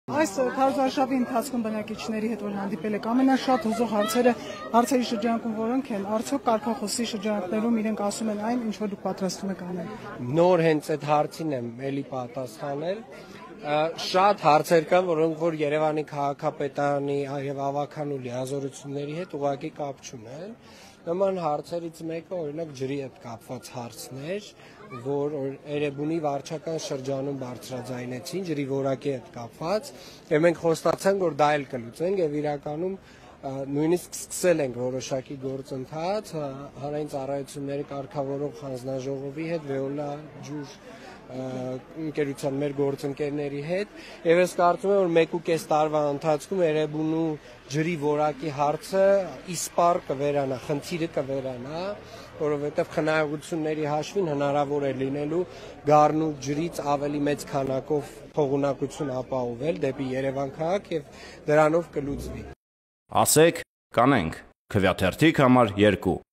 Այս քարոզարշավի ընթացքում բնակիչների հետ որ հանդիպել եք ամենաշատ հուզող հարցերի շրջանակում որոնք են, արդյոք կարգախոսի շրջանակներում իրենք ասում են այն, ինչ որ դուք պատրաստվում եք անել։ Նոր հենց այդ հարցին եմ էլի պատասխանել։ Շատ հարցեր կան, որոնք որ Երևանի քաղաքապետարանի եւ ավականու լիազորությունների հետ ուղղակի կապ չունեն։ Նման հարցերից մեկը օրինակ ջրի հետ կապված հարցն էր, որ Էրեբունի վարչական շրջանում բարձրաձայնեցին ջրի որակի հետ կապված, եւ մենք խոստացանք, որ դա էլ կլուծենք եւ իրականում նույնիսկ սկսել ենք որոշակի գործընթաց հանրային ծառայությունների կարգավորող հանձնաժողովի հետ, Veolia ջուր ընկերության մեր գործընկերների հետ եւ ես կարծում եմ, որ 1.5 տարվա ընթացքում Էրեբունու ջրի որակի հարցը իսպառ կվերանա, խնդիրը կվերանա, որովհետեւ խնայողությունների հաշվին հնարավոր է լինելու Գառնու ջրից ավելի մեծ քանակով փողունակություն ապահովել դեպի Երևան քաղաք եւ դրանով կլուծվի։ Ասեք, կանենք, Քվեաթերթիկ համար 2